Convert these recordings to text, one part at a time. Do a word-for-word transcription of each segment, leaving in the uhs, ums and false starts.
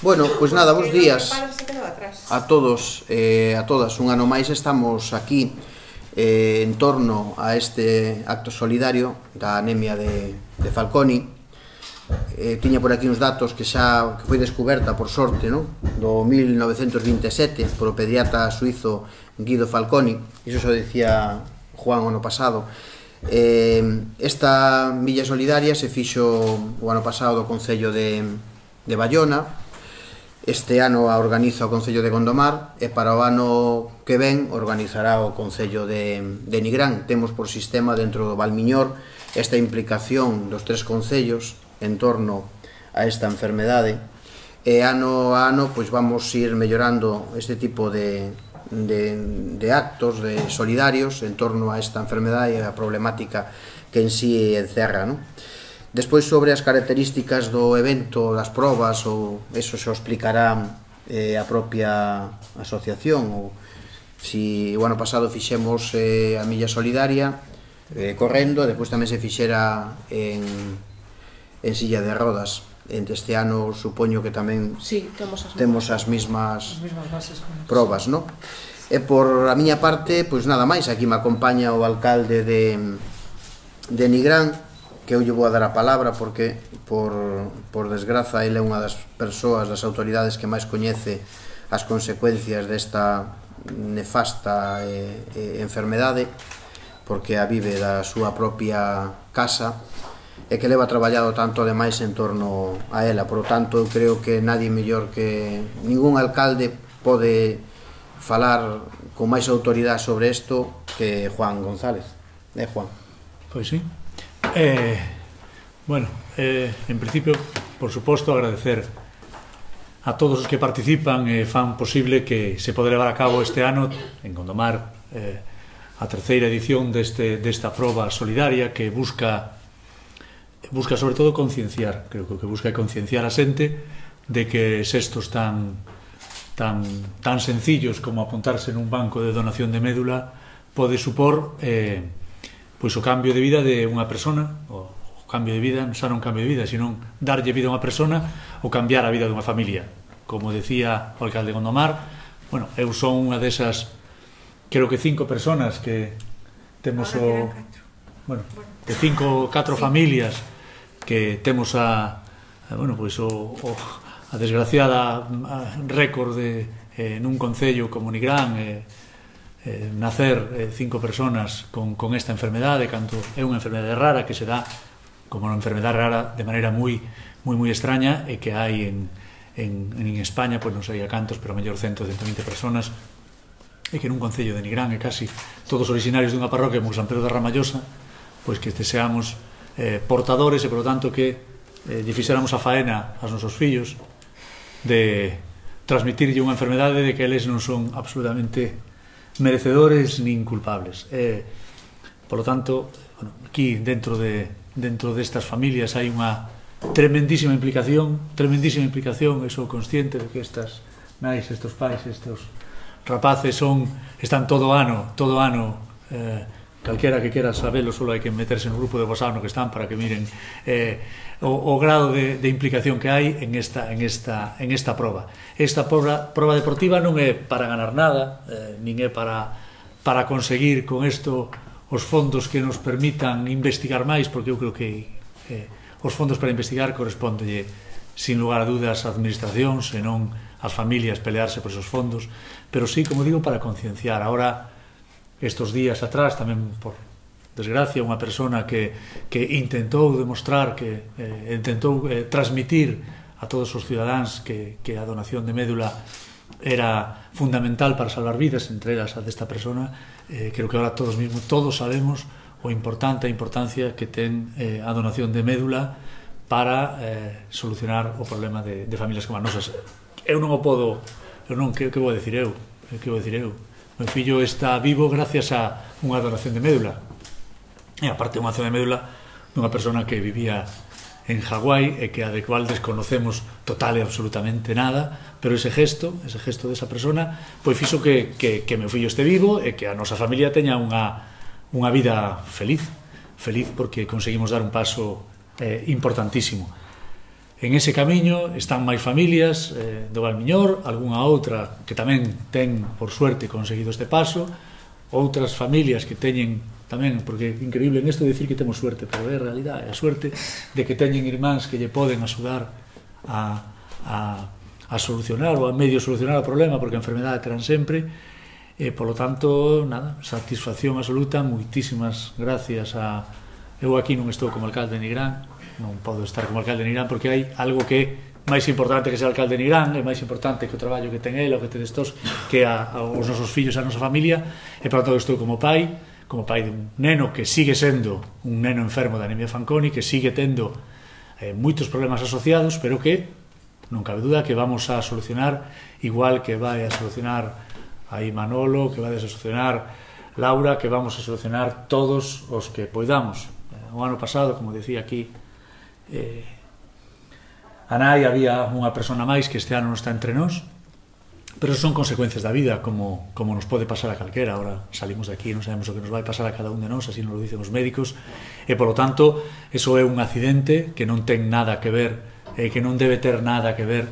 Bueno, pois nada, bons días a todos e a todas. Un ano máis estamos aquí eh, en torno a este acto solidario da anemia de, de Falconi. Eh, tiña por aquí uns datos que xa que foi descoberta, por sorte, no? do mil novecentos vinte e sete por o pediatra suizo Guido Falconi. Iso xa dicía Juan o ano pasado. Eh, esta milla solidaria se fixo o ano pasado do Concello de, de Bayona. Este ano a organiza o Concello de Gondomar e para o ano que ven organizará o Concello de, de Nigrán. Temos por sistema dentro do Valmiñor esta implicación dos tres concellos en torno a esta enfermedade e ano a ano pois vamos ir mellorando este tipo de, de, de actos de solidarios en torno a esta enfermedade e a problemática que en sí encerra, non? Despois, sobre as características do evento, das probas, ou eso se o explicará eh, a propia asociación, ou si o ano pasado fixemos eh, a milla solidaria eh, correndo, e despois tamén se fixera en, en silla de rodas. Entre este ano supoño que tamén sí, temos as, temos as mismas, as mismas bases probas, non? E por a miña parte, pois nada máis, aquí me acompaña o alcalde de, de Nigrán, que eu lle vou a dar a palabra porque, por, por desgraza, ele é unha das persoas, das autoridades que máis coñece as consecuencias desta nefasta eh, eh, enfermedade, porque a vive da súa propia casa e que leva traballado tanto ademais en torno a ela. Por lo tanto, eu creo que nadie mellor que ningún alcalde pode falar con máis autoridade sobre isto que Juan González. Eh, Juan? Pois sí. Eh, bueno, eh, en principio, por suposto, agradecer a todos os que participan e fan posible que se pode levar a cabo este ano en Gondomar eh, a terceira edición deste, desta proba solidaria que busca busca sobre todo concienciar, creo que o que busca é concienciar a xente de que xestos tan tan, tan sencillos como apuntarse nun banco de donación de médula pode supor eh, pois o cambio de vida de unha persona, o, o cambio de vida, xa non cambio de vida, sino darlle vida a unha persona ou cambiar a vida dunha familia. Como decía o alcalde de Gondomar, bueno, eu son unha desas, creo que cinco personas que temos o... Bueno, de cinco, catro familias que temos a, a bueno, pois o, o a desgraciada récord de eh, nun concello como Nigrán, eh, Eh, nacer eh, cinco personas con, con esta enfermedade, canto é unha enfermedade rara que se dá como unha enfermedade rara de maneira moi moi moi extraña e que hai en, en, en España, pois non sei a cantos, pero a mellor cento, cento e vinte personas, e que nun concello de Nigrán e casi todos originarios dunha parroquia como San Pedro da Ramallosa, pois que deseamos eh, portadores e, por lo tanto, que eh, lle fixéramos a faena aos nosos fillos de transmitirlle unha enfermedade de que eles non son absolutamente merecedores nin culpables. Eh, por lo tanto, bueno, aquí dentro de dentro destas familias hai unha tremendísima implicación, tremendísima implicación, e sou consciente de que estas nais, estos pais, estos rapaces son están todo ano, todo ano eh, calquera que quera sabelo, solo hai que meterse no grupo de WhatsApp no que están para que miren eh, o, o grado de, de implicación que hai en esta, en esta, en esta proba. Esta proba, proba deportiva non é para ganar nada, eh, nin é para, para conseguir con isto os fondos que nos permitan investigar máis, porque eu creo que eh, os fondos para investigar correspondelle sin lugar a dudas a administracións e non as familias pelearse por esos fondos, pero sí, como digo, para concienciar. Ahora, estos días atrás, tamén por desgracia, unha persona que, que intentou demostrar, que eh, intentou eh, transmitir a todos os cidadáns que, que a donación de médula era fundamental para salvar vidas, entre elas a desta persona. Eh, creo que ahora todos mismos, todos sabemos o importante, a importancia que ten eh, a donación de médula para eh, solucionar o problema de, de familias como as nosas. Eu non o podo, eu non, que, que vou dicir eu? Que vou dicir eu? O meu fillo está vivo gracias a unha donación de médula. E aparte unha donación de médula dunha persona que vivía en Hawái e que a de cual desconocemos total e absolutamente nada, pero ese gesto, ese gesto desa persona, pois fixo que, que, que meu fillo este vivo e que a nosa familia teña unha, unha vida feliz, feliz porque conseguimos dar un paso eh, importantísimo. en ese camiño están máis familias do Valmiñor, algunha outra que tamén ten, por suerte, conseguido este paso, outras familias que teñen tamén, porque é increíble en isto dicir que temos suerte, pero é a realidade, a suerte de que teñen irmáns que lle poden axudar a, a, a solucionar ou a medio solucionar o problema, porque a enfermedade terán sempre, e polo tanto, nada, satisfacción absoluta, moitísimas gracias a... Eu aquí non estou como alcalde de Nigrán, non podo estar como alcalde de Nigrán porque hai algo que é máis importante que ser alcalde de Nigrán, é máis importante que o traballo que ten ele, o que ten estos, que a, a, os nosos fillos, a nosa familia, e por tanto estou como pai, como pai de un neno que sigue sendo un neno enfermo de anemia Fanconi, que sigue tendo eh, moitos problemas asociados, pero que non cabe duda que vamos a solucionar, igual que vai a solucionar aí Manolo, que vai a solucionar Laura, que vamos a solucionar todos os que poidamos. O ano pasado, como decía aquí eh, a nai, había unha persona máis que este ano non está entre nós, pero son consecuencias da vida, como, como nos pode pasar a calquera. Ahora salimos de aquí e non sabemos o que nos vai pasar a cada un de nós, así nos lo dicen os médicos, e polo tanto eso é un accidente que non ten nada que ver, eh, que non debe ter nada que ver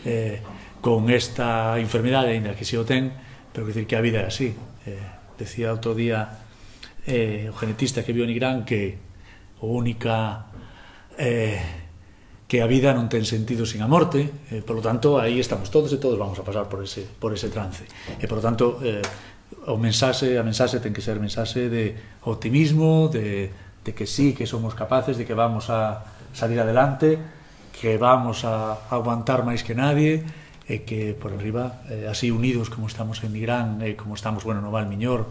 eh, con esta enfermidade, ainda que si o ten, pero que decir que a vida é así. Eh, decía outro día eh, o genetista que viu en Nigrán que o única eh, que a vida non ten sentido sin a morte, eh, por lo tanto aí estamos todos e todos vamos a pasar por ese, por ese trance, e por lo tanto eh, o mensaxe, a mensaxe ten que ser mensaxe de optimismo, de, de que sí, que somos capaces, de que vamos a salir adelante, que vamos a aguantar máis que nadie, e que por arriba, eh, así unidos como estamos en Nigrán, e eh, como estamos, bueno, no Valmiñor,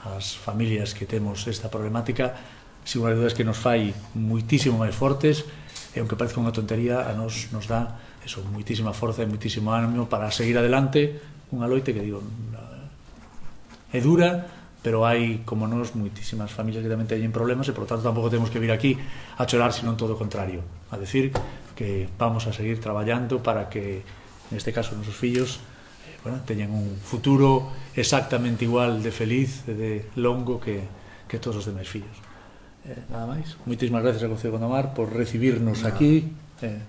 as familias que temos esta problemática, sin unha duda é que nos fai moitísimo máis fortes, e aunque parezca unha tontería, a nos nos dá eso, moitísima forza e moitísimo ánimo para seguir adelante unha loite que, digo, é dura, pero hai, como nos, moitísimas familias que tamén teñen problemas, e por tanto tampouco temos que vir aquí a chorar, sino todo o contrario, a decir que vamos a seguir traballando para que, neste caso, nosos fillos eh, bueno, teñan un futuro exactamente igual de feliz e de longo que, que todos os demais fillos. Eh, nada máis. Moitísimas gracias ao Concello de Gondomar por recibirnos aquí, eh,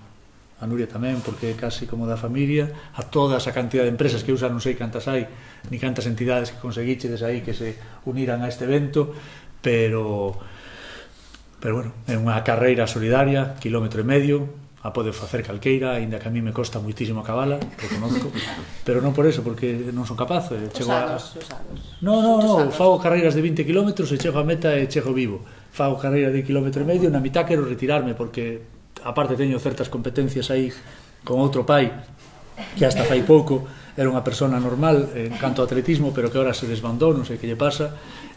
a Nuria tamén, porque é casi como da familia, a toda esa cantidad de empresas que usan, non sei cantas hai, ni cantas entidades que conseguichedes aí que se uniran a este evento, pero pero bueno, é unha carreira solidaria, kilómetro e medio, a pode facer calqueira, aínda que a mí me costa moitísimo acabala, reconozco, pero non por eso, porque non son capaz, eh, chego a... Os anos, os anos. No, no, no, fago carreiras de vinte kilómetros e chego a meta e chego vivo. Fago carreira de kilómetro e medio, na mitad quero retirarme, porque aparte teño certas competencias aí con outro pai, que hasta fai pouco era unha persona normal en canto ao atletismo, pero que ahora se desbandou, non sei que lle pasa,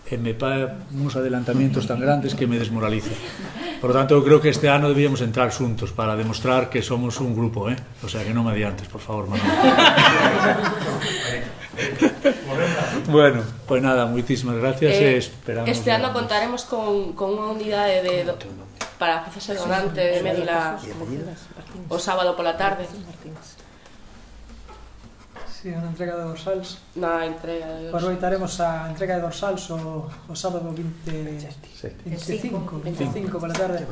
e me pa uns adelantamientos tan grandes que me desmoraliza. Por lo tanto, eu creo que este ano debíamos entrar xuntos para demostrar que somos un grupo, eh? O sea, que non me adiantes, por favor, Manuel. Bueno, pois pues nada, moitísimas gracias eh, e esperamos... Este ano contaremos con, con unha unidade de, do, para facerse donante de médula o sábado pola tarde. Sí, unha entrega de dorsals. Na entrega de dorsals. Aproveitaremos a entrega de dorsals o, o sábado veinticinco, veinticinco pola tarde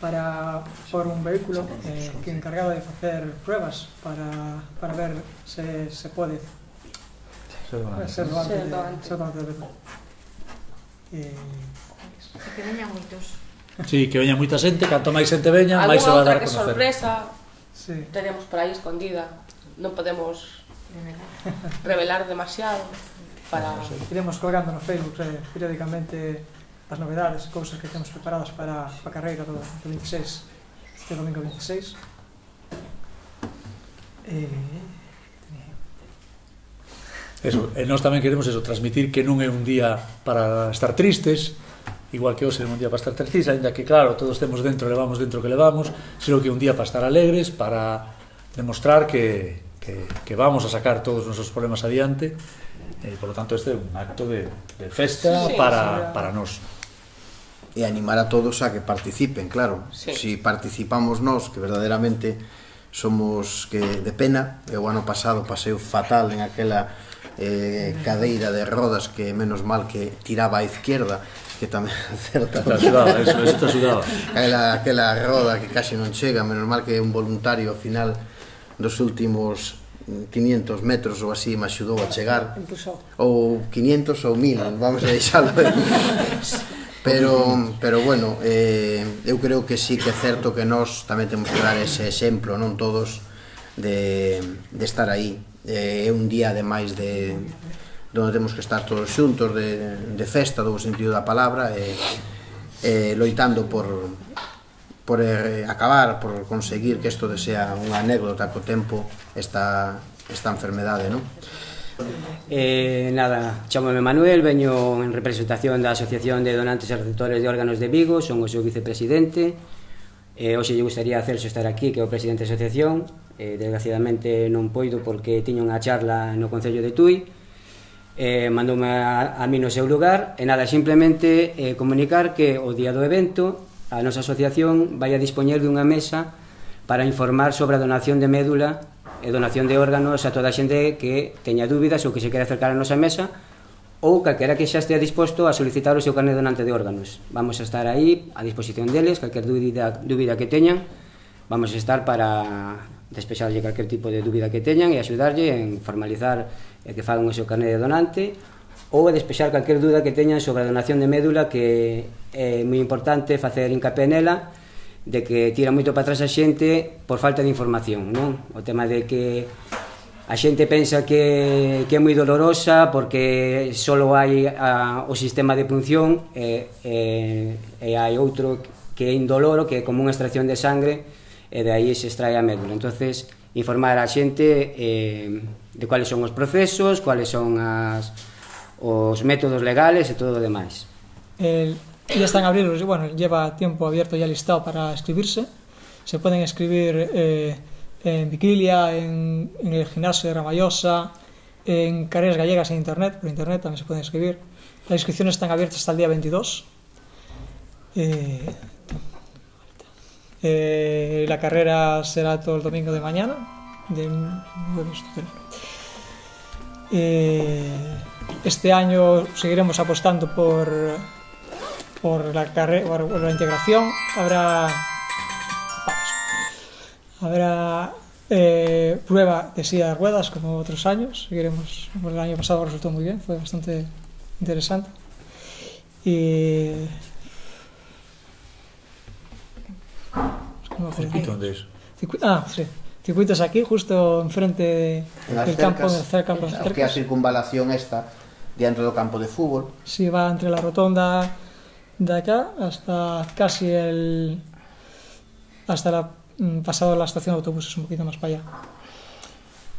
para por un vehículo eh, que é encargado de facer pruebas para, para ver se, se pode ser doante de médula. Que veñan moitos. Sí, que veña moita xente, canto máis xente veña, máis se va a dar a conocer. Alguna outra que sorpresa sí. Tenemos por aí escondida, non podemos revelar demasiado para... Iremos colgando no Facebook eh, periódicamente as novedades, cousas que temos preparadas para a carreira do, do veintiséis, este domingo veintiséis. Eh... Eso, e nós tamén queremos eso, transmitir que non é un día para estar tristes, igual que hoxe é un día para estar tristes, ainda que claro, todos temos dentro, levamos dentro que levamos, sino que é un día para estar alegres, para demostrar que, que, que vamos a sacar todos os nosos problemas adiante, e por lo tanto este é un acto de, de festa sí, para, para nós. E animar a todos a que participen, claro. Sí. Si participamos nós, que verdadeiramente somos que de pena, e o ano pasado paseo fatal en aquela eh, cadeira de rodas que menos mal que tiraba á izquierda que tamén certa. Está sudada, eso, eso está sudada. Aquela, aquela roda que casi non chega, menos mal que un voluntario ao final dos últimos quinientos metros ou así me axudou a chegar, ou quinientos ou mil, vamos a deixalo. Pero, pero bueno, eh, eu creo que sí que é certo que nós tamén temos que dar ese exemplo, non todos, de, de estar aí. É eh, un día ademais de onde temos que estar todos xuntos, de, de festa, do sentido da palabra, e eh, eh, loitando por, por eh, acabar, por conseguir que isto sea unha anécdota co tempo, esta, esta enfermedade, non? Eh, nada, chámome Manuel, veño en representación da Asociación de Donantes e Receptores de Órganos de Vigo, son o seu vicepresidente. Eh, hoxe lle gustaría a Celso estar aquí, que é o presidente da asociación. Eh, desgraciadamente non poido porque tiña unha charla no Concello de Tui. Eh, mandoume a, a mí no seu lugar e nada, simplemente eh, comunicar que o día do evento a nosa asociación vai a dispoñer dunha mesa para informar sobre a donación de médula e donación de órganos a toda a xente que teña dúbidas ou que se quere acercar a nosa mesa ou calquera que xa estea disposto a solicitar o seu carné donante de órganos. Vamos a estar aí a disposición deles, calquer dúbida, dúbida que teñan, vamos a estar para despexarlle calquer tipo de dúbida que teñan e axudarlle en formalizar e que fagan o seu carné de donante ou a despexar calquer dúda que teñan sobre a donación de médula, que é moi importante facer hincapié nela, de que tira moito para atrás a xente por falta de información, non? O tema de que a xente pensa que, que é moi dolorosa porque só hai a, o sistema de punción e, e, e hai outro que é indoloro, que é como unha extracción de sangre e de aí se extrae a médula. Entonces, informar a xente eh, de cuáles son os procesos, cuáles son as, os métodos legales e todo o demais. El, ya están abiertos, bueno, lleva tiempo abierto ya listado para escribirse. Se pueden escribir eh, en Viquilia, en, en el gimnasio de Ramallosa, en Carreras Gallegas en internet, por internet también se pueden escribir. Las inscripciones están abiertas hasta el día veintidós. Eh, eh, la carrera será todo el domingo de mañana. De, eh, este año seguiremos apostando por, por, la, carrera, por la integración. Habrá, habrá eh, prueba de silla de ruedas como otros años. Seguiremos, el año pasado resultó muy bien, fue bastante interesante. Y ¿Circuito dónde es? Ah, sí. Circuitos aquí, justo enfrente del campo, del campo. Es que a circunvalación esta, dentro del campo de fútbol. Sí, va entre la rotonda de acá hasta casi el... hasta la... pasado la estación de autobuses, un poquito más para allá.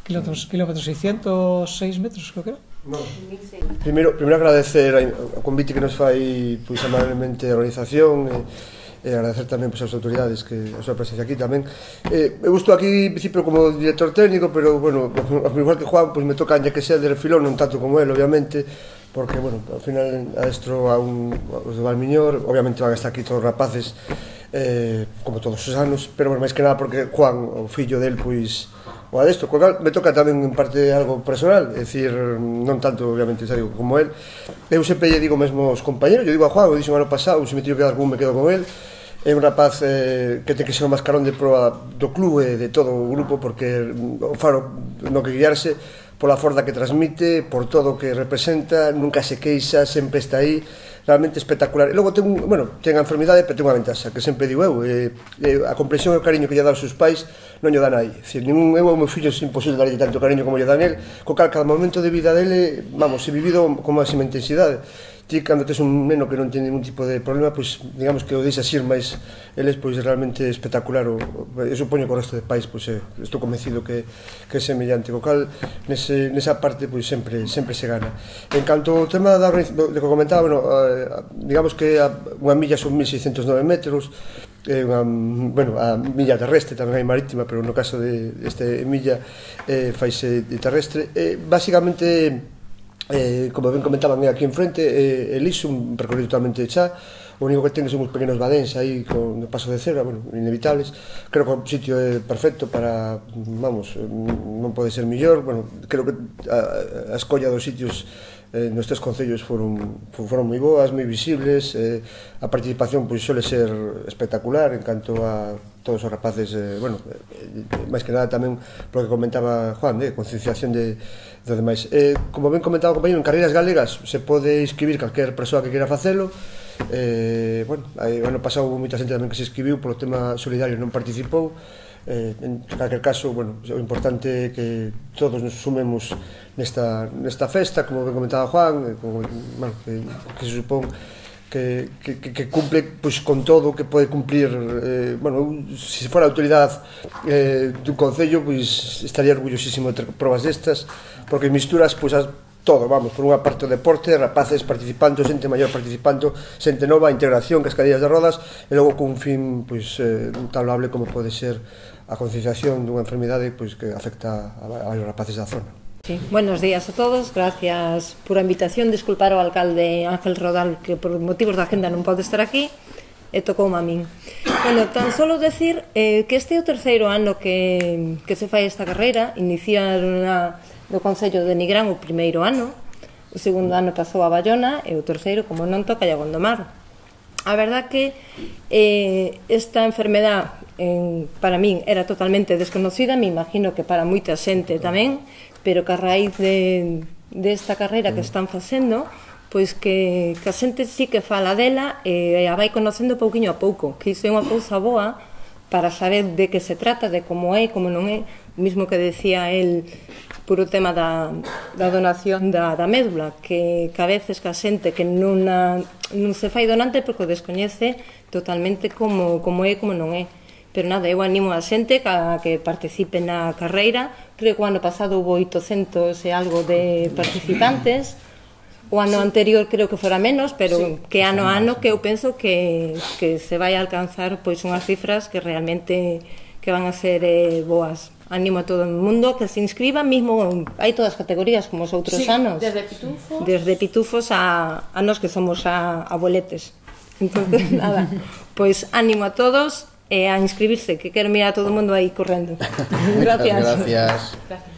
Kilómetros, kilómetros seiscientos seis metros, creo que era. No. Primeiro, primeiro agradecer o convite que nos fai pois, amablemente a organización e, e agradecer tamén pois, as autoridades que a súa presencia aquí tamén. Eh, eu estou aquí, en principio, como director técnico, pero, bueno, igual que Juan, pois, me toca ya que sea de refilón, non tanto como él, obviamente, porque, bueno, ao final adestro a un, os de Valmiñor, obviamente van a estar aquí todos os rapaces, eh, como todos os anos, pero, bueno, máis que nada porque Juan, o fillo del, pois, o adestro, co cal me toca tamén en parte algo personal, é dicir, non tanto obviamente digo, como él. Eu sempre lle digo mesmo aos compañeros, eu digo a Juan, o dixo o ano pasado, se me teño que quedar con un, me quedo con él. É un rapaz eh, que ten que ser o mascarón de proa do clube e de todo o grupo, porque o faro no que guiarse pola forza que transmite, por todo o que representa, nunca se queixa, sempre está aí, realmente espectacular. E logo ten, bueno, ten a enfermidade, pero ten unha ventaxa, que sempre digo eu, eh, eh, a comprensión e o cariño que lle dá aos seus pais non lle dan aí. É dicir, ningún, eu ao meu fillo é imposible darlle tanto cariño como lle dan el, co cal cada momento de vida dele, vamos, he vivido con máxima intensidade. Ti, cando tes un neno que non ten ningún tipo de problema, pois, digamos que o deixas ir, máis eles, pois, realmente espectacular. O, eu supoño que o resto de pais, pois, eh, estou convencido que, que é semellante, co cal, nese, nesa parte, pois, sempre, sempre se gana. En canto ao tema da, de que comentaba, bueno, eh, digamos que a, unha milla son mil seiscentos nove metros, eh, unha, bueno, a milla terrestre, tamén hai marítima, pero no caso de este milla, eh, faise de terrestre. Eh, basicamente, Eh, como ben comentaban aquí enfrente, eh, el liso, un percorrido totalmente xa, o único que ten son uns pequenos badéns aí con o paso de cebra, bueno, inevitables. Creo que o sitio é perfecto para, vamos, non pode ser mellor, bueno, creo que a, a escolla dos sitios eh, nos tres concellos foron, foron moi boas, moi visibles, eh, a participación pois suele ser espectacular en canto a todos os rapaces, eh, bueno, eh, máis que nada tamén polo que comentaba Juan, de concienciación de, de demais. Eh, como ben comentaba o compañero, en carreiras galegas se pode inscribir calquer persoa que queira facelo. Eh, bueno, aí, ano pasado houve moita xente tamén que se inscribiu polo tema solidario, non participou. Eh, en calquer caso, bueno, o importante é que todos nos sumemos nesta, nesta festa, como ben comentaba Juan, eh, como, bueno, que, que se supón que, que, que cumple pois, con todo o que pode cumplir. Eh, bueno, se fora a autoridade eh, dun concello, pois estaría orgullosísimo de ter probas destas, porque misturas pois, as, todo, vamos, por unha parte o deporte, rapaces participando, xente maior participando, xente nova, integración, cascadillas de rodas, e logo cun fin pois, eh, tan loable como pode ser a concienciación dunha enfermidade pois, que afecta a varios rapaces da zona. Sí. Buenos días a todos, gracias por a invitación. Disculpar ao alcalde Ángel Rodal que por motivos da agenda non pode estar aquí e tocou a min. Bueno, tan solo decir eh, que este é o terceiro ano que, que se fai esta carreira. Iniciaron a, no Concello de Nigrán o primeiro ano, o segundo ano pasou a Bayona e o terceiro, como non, toca a Gondomar. A verdad que eh, esta enfermedad en, para min era totalmente desconocida, me imagino que para moita xente tamén, pero que a raíz de, de esta carreira que están facendo, pois que, que a xente sí que fala dela e a vai conocendo pouquiño a pouco, que iso é unha cousa boa para saber de que se trata, de como é e como non é, mismo que decía el por o tema da, da donación da, da médula, que, que a veces que a xente que non, a, non se fai donante porque o descoñece totalmente como, como é e como non é. Pero nada, eu animo a xente a que participe na carreira. Creo que o ano pasado houve oitocentos e algo de participantes. O ano anterior creo que fora menos, pero sí, que ano a ano que eu penso que, que se vai a alcanzar pois unhas cifras que realmente que van a ser eh, boas. Animo a todo o mundo que se inscriba, mismo hai todas as categorías como os outros sí, anos. Desde pitufos. Desde pitufos a, a nos que somos a, abueletes. Entonces, nada, pois animo a todos e a inscribirse, que quero mirar a todo o mundo aí correndo. Gracias. Gracias. Gracias.